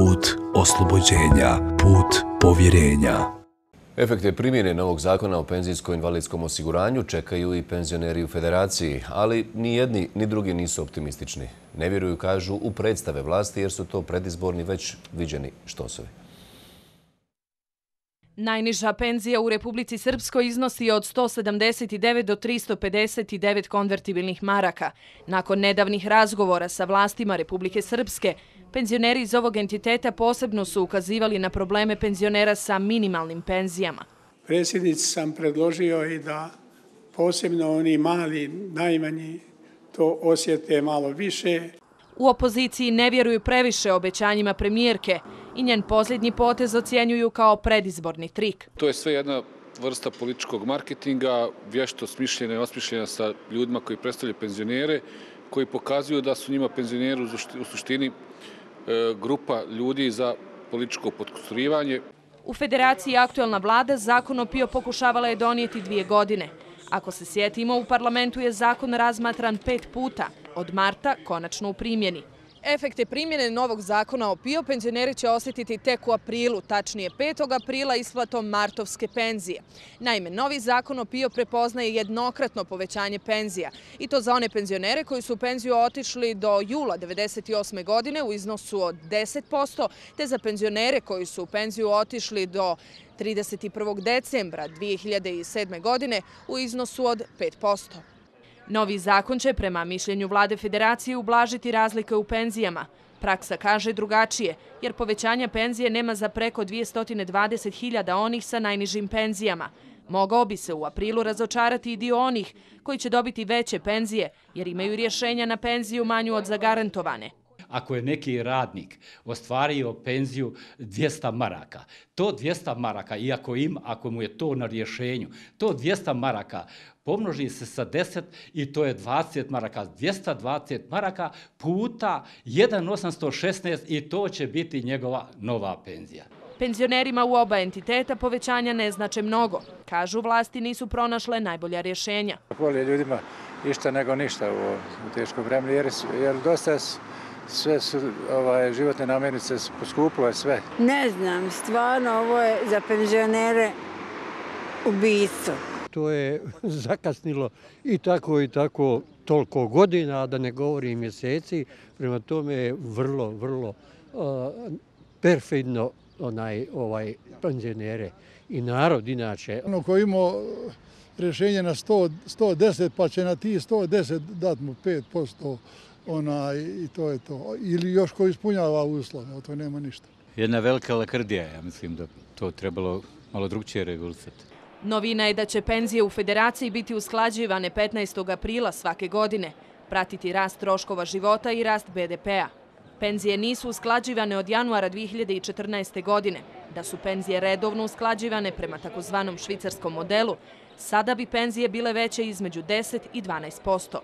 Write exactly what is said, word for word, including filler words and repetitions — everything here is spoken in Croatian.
put oslobođenja, put povjerenja. Efekte primjene novog zakona o penzijsko-invalidskom osiguranju čekaju i penzioneri u Federaciji, ali ni jedni ni drugi nisu optimistični. Ne vjeruju, kažu, u predstave vlasti jer su to predizborni već viđeni štosovi. Najniža penzija u Republici Srpskoj iznosi od sto sedamdeset devet do tristo pedeset devet konvertibilnih maraka. Nakon nedavnih razgovora sa vlastima Republike Srpske, penzioneri iz ovog entiteta posebno su ukazivali na probleme penzionera sa minimalnim penzijama. Predsjednici sam predložio i da posebno oni mali, najmanji, to osjete malo više. U opoziciji ne vjeruju previše obećanjima premijerke i njen posljednji potez ocjenjuju kao predizborni trik. To je sve jedna vrsta političkog marketinga, vješto smišljena i osmišljena sa ljudima koji predstavljaju penzionere, koji pokazuju da su njima penzioneri u suštini grupa ljudi za političko potkusturivanje. U Federaciji aktuelna vlada zakon o PIO pokušavala je donijeti dvije godine. Ako se sjetimo, u parlamentu je zakon razmatran pet puta, od marta konačno u primjeni. Efekte primjene novog zakona o PIO penzioneri će osjetiti tek u aprilu, tačnije petog aprila isplatom martovske penzije. Naime, novi zakon o PIO prepoznaje jednokratno povećanje penzija i to za one penzionere koji su u penziju otišli do jula devedeset osme. godine u iznosu od deset posto, te za penzionere koji su u penziju otišli do trideset prvog decembra dvije hiljade sedme. godine u iznosu od pet posto. Novi zakon će, prema mišljenju vlade Federacije, ublažiti razlike u penzijama. Praksa kaže drugačije, jer povećanja penzije nema za preko dvjesto dvadeset hiljada onih sa najnižim penzijama. Mogao bi se u aprilu razočarati i dio onih koji će dobiti veće penzije, jer imaju rješenja na penziju manju od zagarantovane. Ako je neki radnik ostvario penziju dvjesto maraka, to dvjesto maraka, iako ima, ako mu je to na rješenju, to dvjesto maraka pomnoži se sa deset i to je dvadeset maraka, dvjesto dvadeset maraka puta jedan zarez osamsto šesnaest i to će biti njegova nova penzija. Penzionerima u oba entiteta povećanja ne znače mnogo. Kažu, vlasti nisu pronašle najbolja rješenja. Bolje ljudima išta nego ništa u teškom vremenu, jer, jer dosta sve su ovaj, životne namirnice poskupile sve. Ne znam, stvarno ovo je za penzionere ubistvo. To je zakasnilo i tako i tako toliko godina, da ne govorim mjeseci. Prema tome je vrlo, vrlo uh, perfidno onaj, ovaj, penzionere i narod inače. Ono ko ima rješenje na sto, sto deset, pa će na ti sto deset dati mu pet posto ona, i to je to. Ili još ko ispunjava uslove, o to nema ništa. Jedna velika lakrdija, ja mislim da to trebalo malo drugčije regulisati. Novina je da će penzije u Federaciji biti usklađivane petnaestog aprila svake godine, pratiti rast troškova života i rast be de pea. Penzije nisu usklađivane od januara dvije hiljade četrnaeste. godine. Da su penzije redovno usklađivane prema takozvanom švicarskom modelu, sada bi penzije bile veće između deset i dvanaest posto.